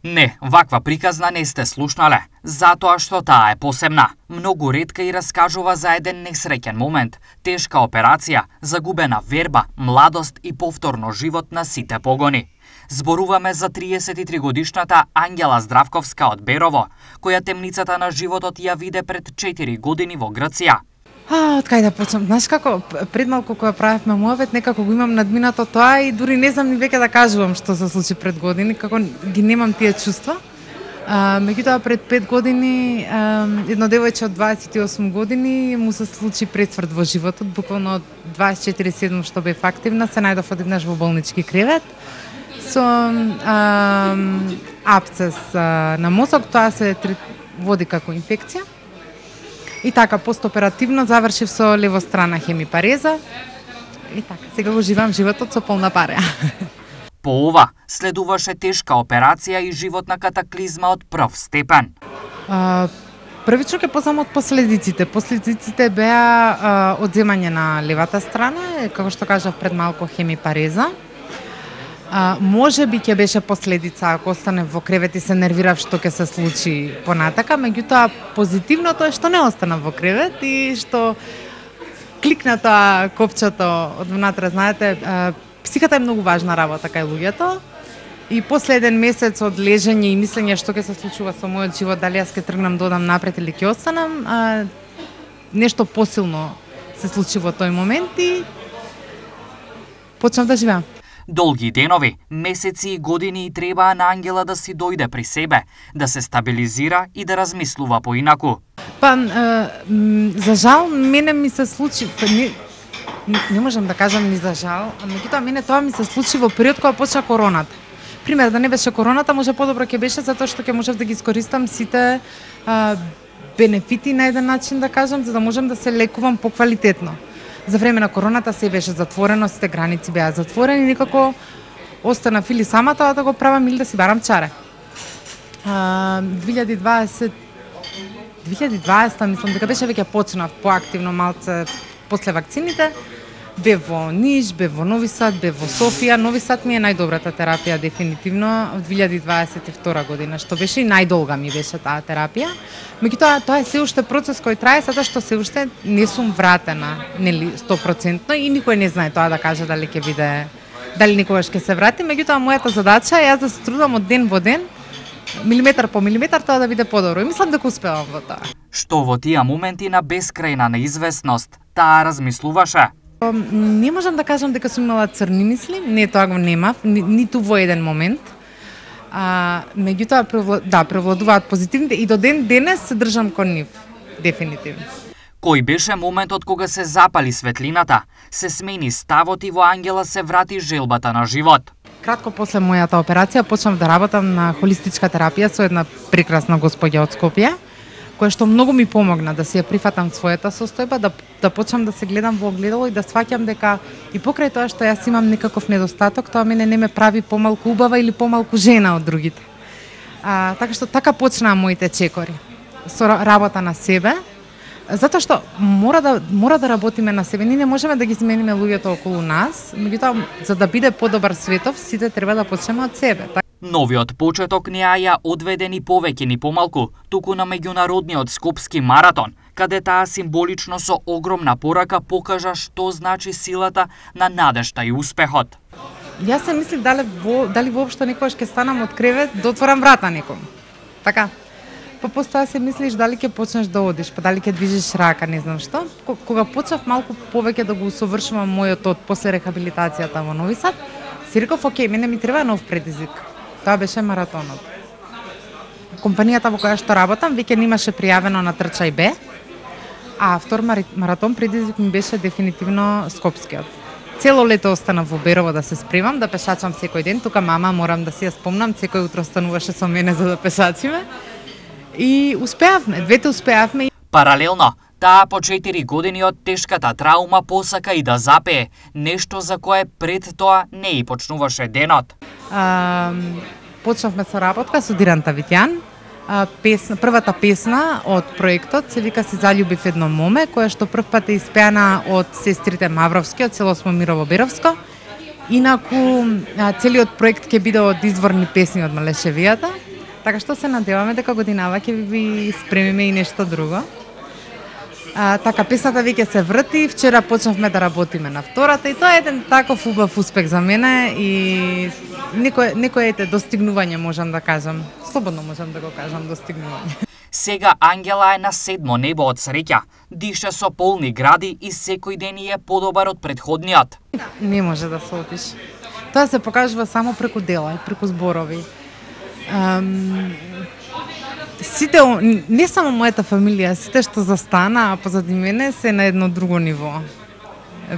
Не, ваква приказна не сте слушнале, затоа што таа е посебна. Многу ретка и раскажува за еден несреќен момент, тешка операција, загубена верба, младост и повторно живот на сите погони. Зборуваме за 33-годишната Ангела Здравковска од Берово, која темницата на животот ја виде пред 4 години во Грција. Од кај да почнам? Знаеш како, пред малку кога правевме муавет, некако го имам надминато тоа и дури не знам ни веќе да кажувам што се случи пред години, како ги немам тие чувства. Меѓутоа пред 5 години едно девојче од 28 години му се случи пресврт во животот, буквално од 24/7 што бев активна, се најдов одеднаш во болнички кревет со абсцес на мозок, тоа се води како инфекција. И така, постоперативно завршив со левострана хемипареза. И така, сега го живеам животот со полна пареа. По ова, следуваше тешка операција и животна катаклизма од прв степен. Првично ќе почнам од последиците. Последиците беа одземање на левата страна, како што кажав пред малку хемипареза. Може би ќе беше последица ако остане во кревет и се нервирав што ќе се случи понатака, меѓутоа позитивното е што не останав во кревет и што кликна тоа копчето од внатре, знаете, психата е многу важна работа кај луѓето. И после еден месец од лежење и мислење што ќе се случува со мојот живот, дали јас ќе тргнам да одам напред или ќе останам, нешто посилно се случи во тој момент и почнав да живеам. Долги денови, месеци и години и требаа на Ангела да си дојде при себе, да се стабилизира и да размислува поинаку. За жал, мене ми се случи, не можам да кажам ни за жал, меѓутоа мене тоа ми се случи во период кога почна короната. Пример, да не беше короната, може подобро ќе беше затоа што ќе можев да ги искористам сите бенефити на еден начин, да кажам, за да можам да се лекувам поквалитетно. За време на короната се беше затворено, сите граници беа затворени, никако останав или сама тоа да го правам или да си барам чаре. 2020 мислам дека беше веќе почнав поактивно малце после вакцините. Бев во Ниш, бев во Нови Сад, бев во Софија. Нови Сад ми е најдобрата терапија дефинитивно од 2022 година, што беше и најдолга ми беше таа терапија. Меѓутоа тоа е се уште процес кој трае, затоа што се уште не сум вратена, нели 100% и никој не знае тоа да каже дали ќе биде, дали никогаш ќе се врати. Меѓутоа мојата задача е јас да се трудам од ден во ден, милиметар по милиметар тоа да биде подобро. И мислам дека успевам во тоа. Што во тие моменти на бескрајна неизвестност, таа размислуваше? Не можам да кажам дека сум имала црни мисли, не, тоа го немав, ниту во еден момент. Меѓутоа, превладуваат позитивните и до ден денес се држам кон нив, дефинитивно. Кој беше моментот кога се запали светлината, се смени ставот и во Ангела се врати желбата на живот? Кратко после мојата операција почнав да работам на холистичка терапија со една прекрасна господја од Скопје, која што многу ми помогна да си ја прифатам својата состојба, да почнам да се гледам во огледало и да сваќам дека и покрај тоа што јас имам некаков недостаток, тоа мене не ме прави помалку убава или помалку жена од другите. Така што така почнаа моите чекори. Со работа на себе, затоа што мора да работиме на себе. Ние не можеме да ги смениме луѓето околу нас, меѓутоа за да биде подобар светов, сите треба да почнеме од себе. Новиот почеток не ја одведе ни повеќе ни помалку, туку на меѓународниот скопски маратон, каде таа символично со огромна порака покажа што значи силата на надежта и успехот. Јас се мислив дали воопшто некогаш ќе станам од кревет да отворам врата некому. Така. Па постоја се мислиш дали ќе почнеш да одиш, па дали ќе движиш рака, не знам што. Кога почнав малку повеќе да го усовршувам мојот од после рехабилитацијата во Нови Сад, си реков, окей, мене ми треба нов предизвик. Тоа беше маратонот. Компанијата во која што работам веќе немаше пријавено на Трчај Б, а втор маратон предизвик ми беше дефинитивно скопскиот. Цело лето останав во Берово да се спремам, да пешачам секој ден. Тука мама морам да си ја спомнам, секој утро стануваше со мене за да пешачиме. И успеавме, двете успеавме. Паралелно, таа по 4 години од тешката траума посака и да запее, нешто за кое пред тоа не и почнуваше денот. Почнавме со работка со Диран Тавитјан. Првата песна од проектот се вика "Се заљубив едно моме", која што прв пат е испеана од сестрите Мавровски од село Смомирово Беровско. Инаку целиот проект ќе биде од изворни песни од Малешевијата. Така што се надеваме дека годинава ќе ви спремиме и нешто друго. Така, песната веќе се врти, вчера почнавме да работиме на втората и тоа е еден таков убав успех за мене и некој достигнување можам да кажам. Слободно можам да го кажам достигнување. Сега Ангела е на 7 небо од среќа. Дише со полни гради и секој ден е подобар од претходниот. Не може да се опише. Тоа се покажува само преку дела и преку зборови. Сите, не само мојата фамилија, сите што застана позади мене се на едно друго ниво.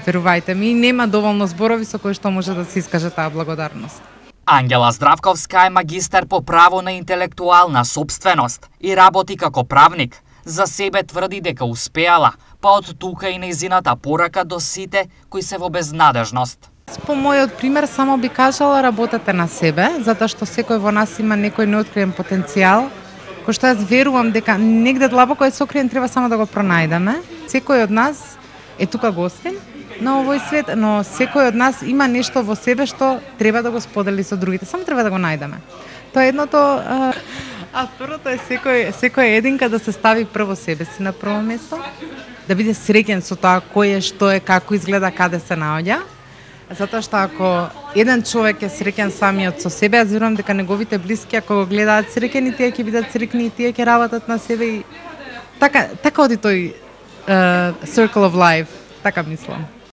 Верувајте ми, нема доволно зборови со кои што може да се искаже таа благодарност. Ангела Здравковска е магистар по право на интелектуална собственост и работи како правник. За себе тврди дека успеала, па од тука и нејзината порака до сите кои се во безнадежност. По мојот пример само би кажала работете на себе, затоа што секој во нас има некој неоткриен потенцијал, кој што јас верувам дека негде длабоко е сокриен, треба само да го пронајдеме. Секој од нас е тука гостин на овој свет, но секој од нас има нешто во себе што треба да го сподели со другите, само треба да го најдеме. Тоа е едното, а второто е секој единка да се стави прво себе си на прво место, да биде среќен со тоа кој е, што е, како изгледа, каде се наоѓа. Затоа што ако еден човек е среќен самиот со себе, јас верувам дека неговите блиски ако го гледаат среќени, тие ќе бидат среќни и тие ќе работат на себе и така оди тој circle of life, така мислам.